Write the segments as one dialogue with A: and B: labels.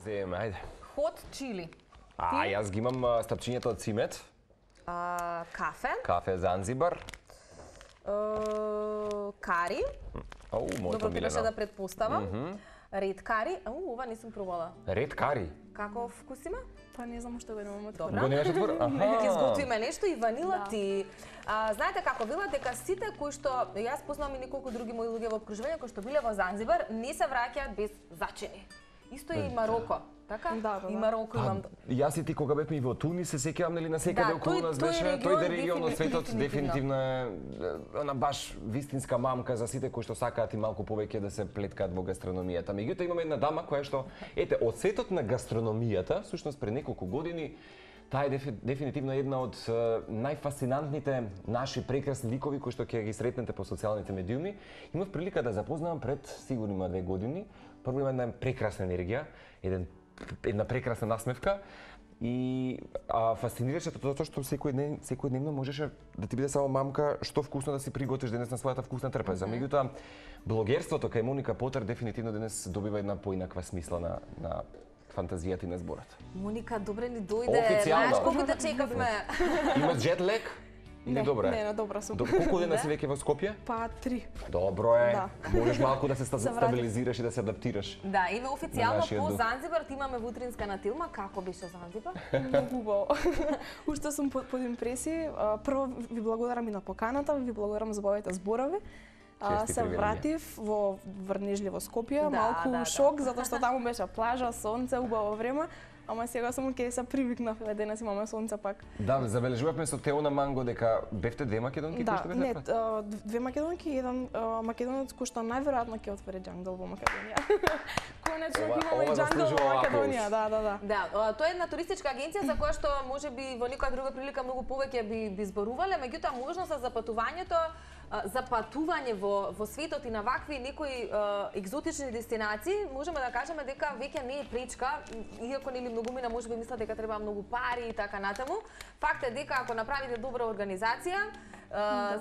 A: Земе, ајде.
B: Hot chili.
A: Јас ги имам стапчињата од цимет.
B: Кафе.
A: Кафе Занзибар.
B: Кари.
A: Мојата
B: Добро,
A: милена.
B: требаше да предпоставам. Ред кари. Ова не сум пробала.
A: Ред кари.
B: Како вкус има?
C: Па не знам што го немам од
B: Добра.
A: Го немаш отвор?
B: Ќе изготвиме нешто и ванилат и знаете како велат дека сите кои што јас познавам и неколку други мои луѓе во окружување кои што биле во Занзибар не се враќаат без зачини. Исто и Мароко, така?
C: Да.
B: И Мароко имам.
A: Јас и ти кога бевме и во Тунис се сеќавам нели на секаде околу нас беше тој регион од светот дефинитивно е она баш вистинска мамка за сите кои што сакаат и малку повеќе да се плеткаат во гастрономијата. Меѓутоа имаме една дама која што ете од светот на гастрономијата, всушност пред неколку години таа е дефинитивно една од најфасцинантните наши прекрасни ликови кои што ќе ги сретнете по социјалните медиуми. Имав прилика да запознавам пред сигурно има 2 години. Прво има една прекрасна енергија, една прекрасна насмевка и фасцинираше тоа што секојдневно можеше да ти биде само мамка што вкусно да си приготвиш денес на својата вкусна трпеза. Меѓутоа блогерството кај Моника Потер дефинитивно денес добива една поинаква смисла на фантазијата и на зборот.
B: Моника, добре ни дојде.
A: Официјално.
B: Знаеш колку те чекавме.
A: Имаш джет лек? Или добро е?
C: Не, добра сум.
A: Колку дена си веќе во Скопје?
C: Па 3.
A: Добро е.
C: Да.
A: Можеш малку да се стабилизираш и да се адаптираш.
B: Да, име официјално
A: нашиот
B: по
A: дух.
B: Занзибар ти имаме вутринска на Тилма. Како беше Занзибар?
C: Многу убаво. Уште сум под импресии. Прво ви благодарам и на поканата, ви благодарам за убавите зборови. Се вратив во врнежливо Скопје, малку шок затоа што таму беше плажа, сонце, убаво време. Ама сега сум ќе се привикнав, денес имаме сонце пак.
A: Да, забележувавме со Теона Манго дека бевте 2 македонки кои што бевте?
C: Да, не, 2 македонки и еден македонец кој што најверојатно ќе отвори џангл во Македонија. Конечно имаме џангл во Македонија, да.
B: Да, тоа е една туристичка агенција за која што можеби во некоја друга прилика многу повеќе би зборувале, меѓутоа можноста за патување во светот и на вакви некои екзотични дестинации, можеме да кажеме дека веќе не е пречка, иако нели многумина можеби мислат дека треба многу пари и така натаму. Факт е дека ако направите добра организација,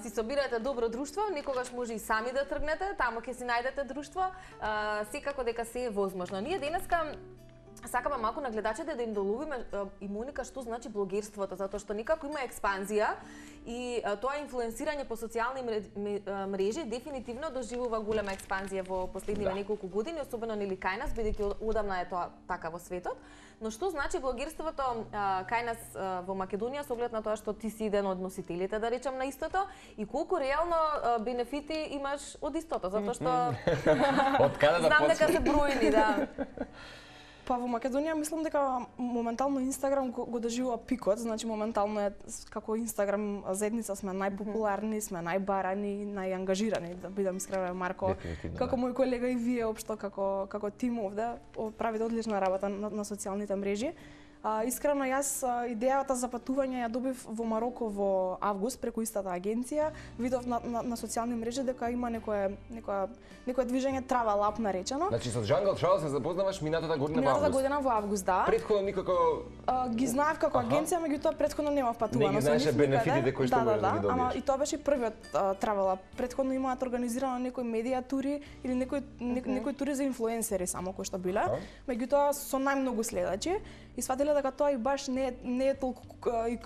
B: си собирате добро друштво, некогаш може и сами да тргнете, таму ќе си најдете друштво, секако дека се е возможно. Ние денеска сакаме малку на гледачите да им доловиме и Моника што значи блогерството, затоа што некако има експанзија и тоа инфлуенсирање по социјални мрежи дефинитивно доживува голема експанзија во последниве неколку години, особено нели кај нас, бидејќи одамна е тоа така во светот. Но што значи блогерството кај нас во Македонија со оглед на тоа што ти си еден од носителите, да речем, на истото и колку реално бенефити имаш од истото, затоа што знам дека се бројни, да.
C: Па во Македонија мислам дека моментално Инстаграм го доживува пикот, значи моментално е како Инстаграм заедница сме најпопуларни, сме најбарани, најангажирани, да бидам искрена, Марко, како мој колега и вие општо како тим овде правите одлична работа на социјалните мрежи. Искрено јас идејата за патување ја добив во Мароко во август преку истата агенција. Видов на социјални мрежи дека има некое движење Travel Up наречено.
A: Значи со Jungle Travel се запознаваш минатата година во август.
C: Минатата година во август, да.
A: Претходно никако
C: ги знаев како агенција, меѓутоа претходно немав патувано.
A: Не ги знаеше бенефитите кои што можеш да ги добиеш.
C: Ама и тоа беше првиот Travel Up. Претходно имаат организирано некои медија тури или некои тури за инфлуенсери само кои што биле. Меѓутоа со најмногу следачи и сватиле дека тоа и баш не е толку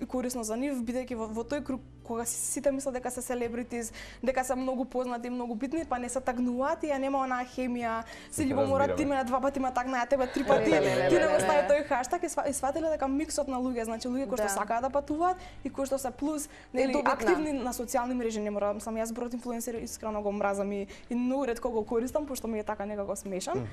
C: корисно за нив, бидејќи во тој круг кога сите мислат дека се селебритис, дека се многу познати, многу битни, па не се тагнуваат и ја нема онаа хемија, се љубомора ти мене 2 пати ме тагна, ја тебе 3 пати, ти не го стави тој хаштаг и сватиле дека миксот на луѓе, значи луѓе кои што сакаат да патуваат и кои што се плюс нели активни на социјални мрежи, не мора сам јас зборот инфлуенсери искрено го мразам и многу ретко го користам пошто ми е така некако смешан.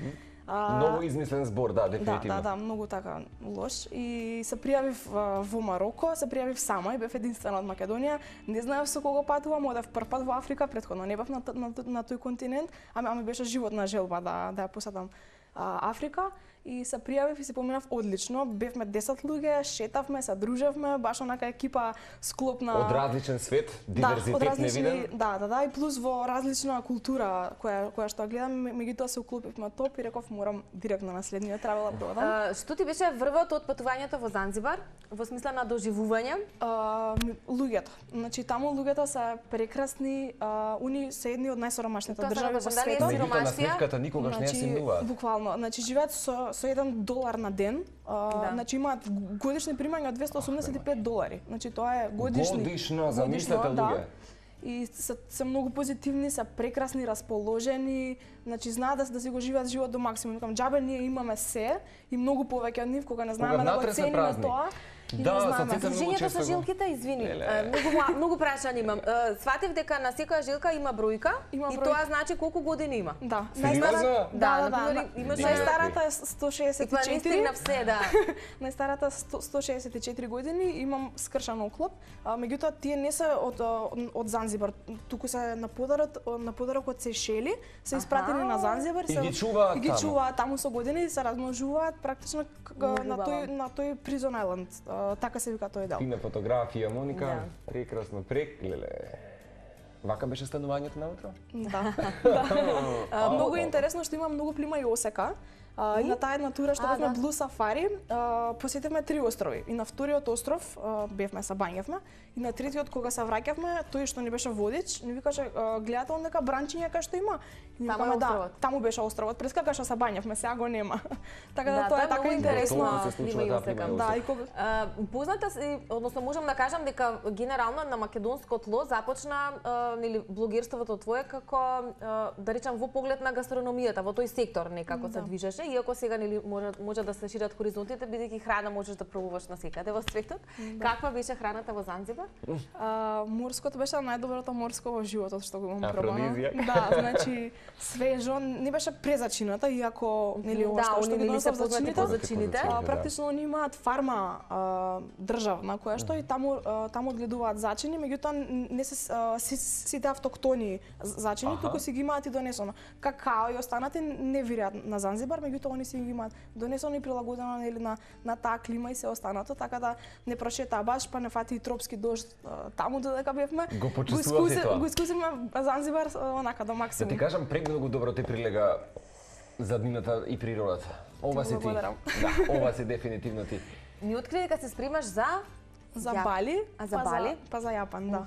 A: Многу измислен збор, да, дефинитивно.
C: Да, многу така лош и се пријавив во Мароко, се пријавив сама и бев единствена од Македонија. Не знаев со кого патувам, одев прв пат во Африка, претходно не бев на тој континент, ама ми беше животна желба да ја посетам Африка и се пријавив и се поминав одлично. Бевме 10 луѓе, шетавме, се дружевме, баш онака екипа склопна
A: од различен свет, диверзитет невиден.
C: Да, и плюс во различна култура која што гледам, меѓутоа се уклопивме топ и реков морам директно на следниот Travel Up да одам.
B: Што ти беше врвот од патувањето во Занзибар, во смисла на доживување?
C: Луѓето. Значи таму луѓето се прекрасни, уни се едни од најсиромашните држави во светот.
A: Меѓутоа на сметката никогаш не ја симнуваат.
C: Буквално, значи живеат со со $1 на ден, значи имаат годишни примања од $285. Значи тоа е
A: годишно за мислите луѓе.
C: И се многу позитивни, се прекрасни, расположени, значи знаат да си го живеат живот до максимум. Викам, џабе ние имаме се и многу повеќе од нив кога не знаеме да го цениме тоа.
A: Да,
B: Движењето со жилките, извини, многу прашања имам. Сватив дека на секоја жилка има бројка и тоа значи колку години има.
C: Да.
B: Најстарата
C: е 164.
B: На все, да.
C: Најстарата 164 години, имам скршан оклоп, меѓутоа тие не се од Занзибар, туку се на подарок од Сејшели, се испратени на Занзибар
A: и ги чуваат
C: таму со години, се размножуваат практично на тој Prison Island. Така се вика тој дел.
A: Фина фотографија, Моника, прекрасно, леле. Вака беше станувањето наутро?
C: Да. Многу интересно што има многу плима и осека. И на таа една тура што бевме Blue Safari, посетивме 3 острови. И на вториот остров бевме, се бањевме, и на третиот кога се враќавме, тој што ни беше водич, ни викаше гледате он нека бранчиња кај што има. И викаме да, таму беше островот, прескака што се бањевме, сега го нема. Така да тоа е така интересно.
B: Да, и кога позната се, односно можам да кажам дека генерално на македонско тло започна нели блогерството твое како да речам во поглед на гастрономијата, во тој сектор некако се движеше. Иако сега нели може да се шират хоризонтите, бидејќи храна можеш да пробуваш насекаде во светот. Каква беше храната во Занзибар?
C: Морското беше најдоброто морско во животот што го имам пробано. Да, значи свежо, не беше презачината, иако нели ова што ги носат зачините. Практично они имаат фарма државна која што и таму одгледуваат зачини, меѓутоа не се сите автоктони зачини, туку си ги имаат и донесено. Какао и останати не виреат на Занзибар, меѓутоа они си ги имаат донесено и прилагодено нели на таа клима и се останато, така да не прошетаа баш, па не фати и тропски дожд таму додека бевме.
A: Го почувствувавте тоа?
C: Го искусивме Занзибар онака до максимум.
A: Да ти кажам, премногу добро ти прилега заднината и природата. Ова си ти. Да, ова си дефинитивно ти.
B: Ми откри дека се спремаш за
C: Бали,
B: за Бали,
C: па за Јапан, да.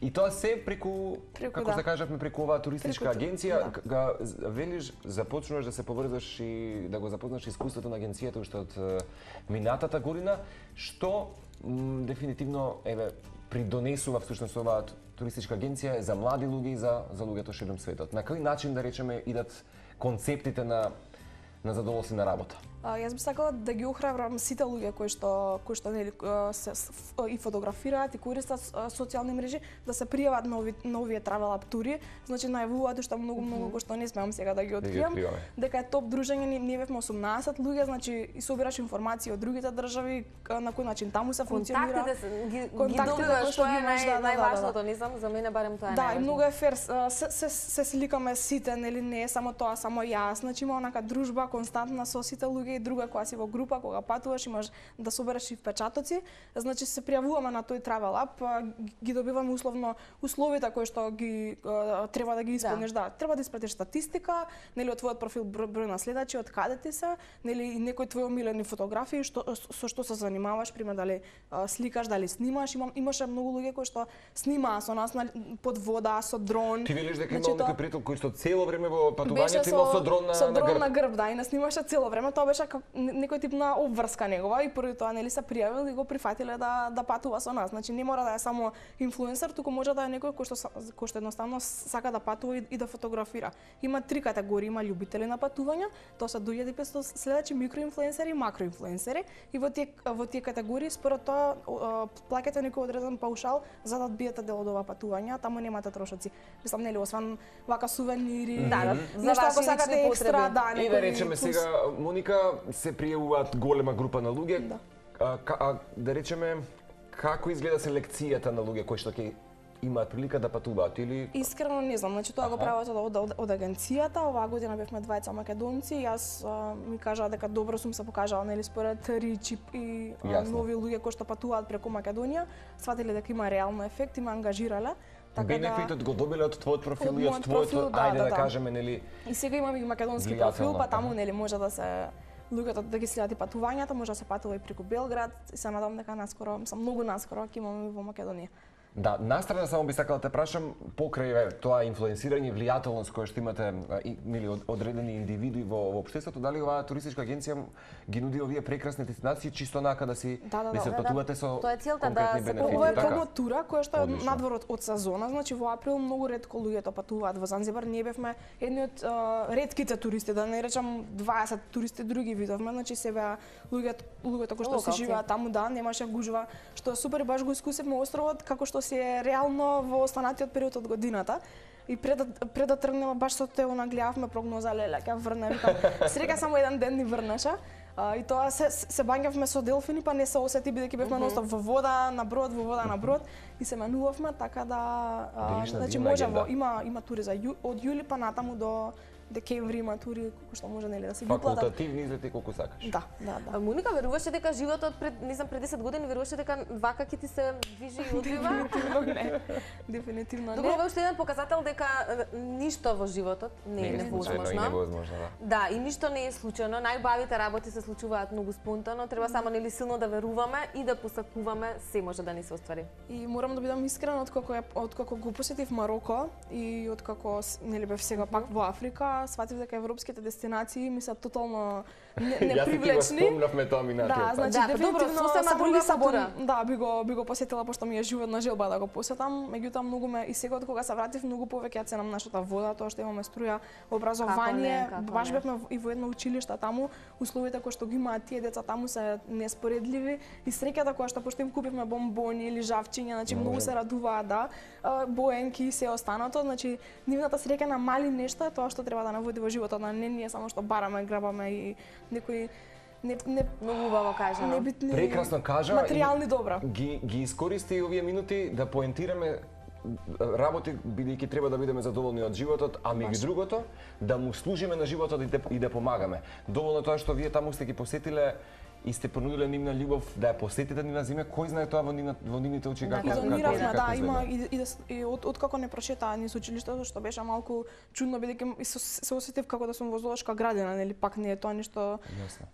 A: И тоа се преку како се кажавме, преку оваа туристичка агенција, кога велиш започнуваш да се поврзаш и да го запознаш искуството на агенцијата уште од минатата година, што дефинитивно придонесува всушност оваа туристичка агенција за млади луѓе и за луѓето широм светот. На кој начин да речеме идат концептите на задоволствена работа?
C: Јас би сакала да ги охрабрам сите луѓе кои што нели се и фотографираат и користат социјални мрежи да се пријават на овие travel app тури. Значи најавуваат уште многу кои што не смеам сега да ги откријам. Дека е топ дружење, ние бевме 18 луѓе, значи и собираш информации од другите држави на кој начин таму се функционира.
B: Контактите ги добиваш, тоа е најважното, не знам, за мене барем тоа е најважно.
C: Да, и многу е фер, се сликаме сите, нели не е само тоа, само јас, значи има онака дружба константна со сите луѓе и друга која си во група, кога патуваш имаш да собереш и впечатоци, значи се пријавуваме на тој travel app, ги добиваме условите кои што ги треба да ги исполниш, да, треба да испратиш статистика, нели од твојот профил број на следачи, од каде ти се, нели и некои твои омилени фотографии, со што се занимаваш, пример дали сликаш, дали снимаш, имаше многу луѓе кои што снимаа со нас под вода, со дрон.
A: Ти велиш дека имал некој приятел кој што цело време во патувањето имал со дрон
C: на грб, да, и не снимаше цело време, тоа беше некој тип на обврска негова и поради тоа нели се пријавил и го прифатиле да патува со нас. Значи не мора да е само инфлуенсер, туку може да е некој кој што едноставно сака да патува и да фотографира. Има 3 категории, има љубители на патувања, тоа се 2500 следачи, микроинфлуенсери и макроинфлуенсери и во тие категории според тоа плаќате некој одреден паушал за да бидете дел од ова патување, таму немате трошоци. Мислам нели осван вака сувенири,
B: нешто ако сакате екстра,
C: да,
A: и да речеме сега Моника се пријавуваат голема група на луѓе. Да речеме како изгледа селекцијата на луѓе кои што ќе имаат прилика да патуваат или
C: Искрено не знам, значи тоа го прават од агенцијата. Оваа година бевме двајца македонци, јас ми кажаа дека добро сум се покажала нели според Ричип и нови луѓе кои што патуваат преку Македонија, сватиле дека има реално ефект и ме ангажирале.
A: Бенефитот го добиле од твојот профил и од твојот, ајде да кажеме нели.
C: И сега имам и македонски профил, па таму нели може да се луѓето да ги следат и патувањата, може да се патува и преку Белград и се надам дека наскоро, многу наскоро ќе имаме во Македонија.
A: Да, настрана само би сакала да те прашам покрај тоа инфлуенсирање и влијателност која што имате мили одредени индивидуи во општеството, дали оваа туристичка агенција ги нуди овие прекрасни дестинации чисто онака да си се патувате со конкретни бенефити?
C: Ова е промотура која што е надвор од сезона, значи во април многу ретко луѓето патуваат во Занзибар. Ние бевме едни од ретките туристи, да не речам 20 туристи други видовме, значи се беа луѓето кои што се живеат таму, да, немаше гужва, што супер баш го искусивме островот како што си е реално во останатиот период од годината. И пред да тргнеме баш со Тео нагледавме прогноза, леле, ќе врне, викам, среќа само еден ден ни врнеше. И тоа се бањавме со делфини, па не се осети бидејќи бевме ностоп во вода, на брод, и се менувавме, така да значи можево, има тури за од јули па натаму до декември има тури кои што може нели да се ги платат.
A: Факултативни излети колку сакаш.
C: Да.
B: Моника, веруваше дека животот пред 10 години веруваше дека вака ќе ти се движи и одвива?
C: Дефинитивно не.
B: Добро, ова е уште еден показател дека ништо во животот не е невозможно. Да, и ништо не е случајно. Најбавите работи се случуваат многу спонтано, треба само нели силно да веруваме и да посакуваме, се може да ни се оствари.
C: И морам да бидам искрена, откако го посетив Мароко и откако нели бев сега пак во Африка, сватив дека европските дестинации ми се тотално непривлечни.
A: Јас ти го спомнавме тоа минатиот.
C: Да, значи дефинитивно
B: сосема друга фабула.
C: Да, би го посетила пошто ми е животна желба да го посетам. Меѓутоа многу ме и сега кога се вратив многу повеќе ја ценам нашата вода, тоа што имаме струја, образование, баш бевме и во едно училиште таму, условите кои што ги имаат тие деца таму се неспоредливи и среќата која што пошто им купивме бомбони или жавчиња, значи многу се радуваат, да, боенки и се останато, значи нивната среќа на мали нешта е тоа што треба да наводи во животот, не ние само што бараме, грабаме и некои
B: многу убаво кажа.
A: Прекрасно кажа.
C: Материјални добра.
A: Ги искористи овие минути да поентираме работи, бидејќи треба да бидеме задоволни од животот, а меѓу другото да му служиме на животот и да помагаме. Доволно тоа што вие таму сте ги посетиле и сте понудиле нивна љубов да ја посетите нивна земја, кој знае тоа во нивните очи како
C: изгледа. Да, има и откако не прочета низ училиштето, што беше малку чудно бидејќи се осетив како да сум во зоолошка градина, нели пак не е тоа ништо.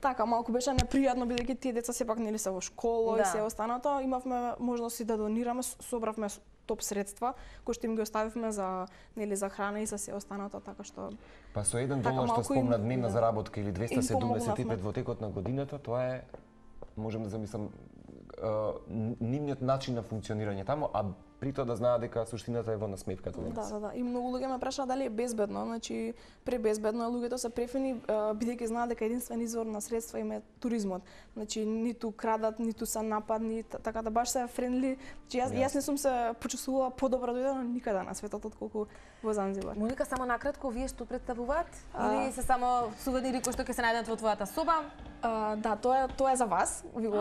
C: Така малку беше непријатно бидејќи тие деца сепак нели се во школа и се останато, имавме можности да донираме, собравме топ средства кои што им ги оставивме за нели за храна и за се останато, така што
A: па со $1 што спомна дневна заработка или 275 во текот на годината, тоа е можам да замислам нивниот начин на функционирање таму, а при тоа да знаат дека суштината е во насмевката.
C: Да. И многу луѓе ме прашаат дали е безбедно, значи пребезбедно е, луѓето се префини бидејќи знаат дека единствен извор на средства им е туризмот. Значи ниту крадат, ниту се нападни, така да баш се френдли. Значи јас не сум се почувствувала подобро дојдено никаде на светот отколку во Занзибар.
B: Моника, само накратко, вие што представуваат? Или се само сувенири кои што ќе се најдат во твојата соба?
C: Да, тоа е за вас. Ви го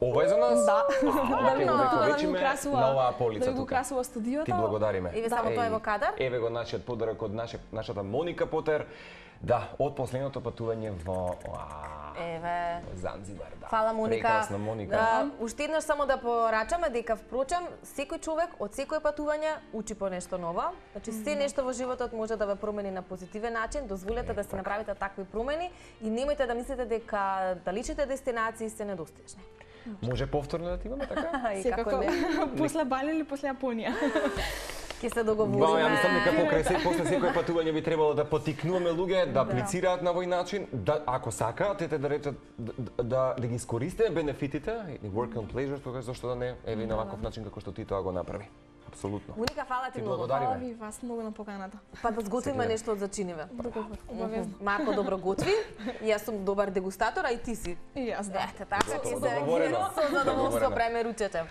A: Ова е за нас?
C: Да.
A: Да ви украсува на оваа полица тука.
C: Да ви украсува студиото.
A: Ти благодариме.
B: Еве само тоа е во кадар.
A: Еве го нашиот подарок од нашата Моника Потер. Да, од последното патување во Занзибар, да.
B: Фала, Моника.
A: Прекрасна, Моника.
B: Уште еднаш само да порачаме дека впрочем секој човек од секое патување учи по нешто ново. Значи се нешто во животот може да ве промени на позитивен начин. Дозволете да си направите такви промени и немојте да мислите дека далечните дестинации се недостижни.
A: Може повторно да ти имаме така?
C: Секако после Бали или после Јапонија.
B: Ќе се договориме.
A: Ја мислам дека после секој патување би требало да поттикнуваме луѓе да аплицираат на овој начин, да ако сакаат да речат да ги искористите бенефитите, work and pleasure, тогаш зошто да не е на ваков начин како што ти тоа го направи. Апсолутно.
B: Моника, фала ти многу.
C: Фала ви вас многу на поканата.
B: Па да сготвиме нешто од зачиниве.
C: Обавезно.
B: Марко добро готви, јас сум добар дегустатор, а и ти си.
C: И јас, да.
B: Така ќе се со задоволство преме ручете.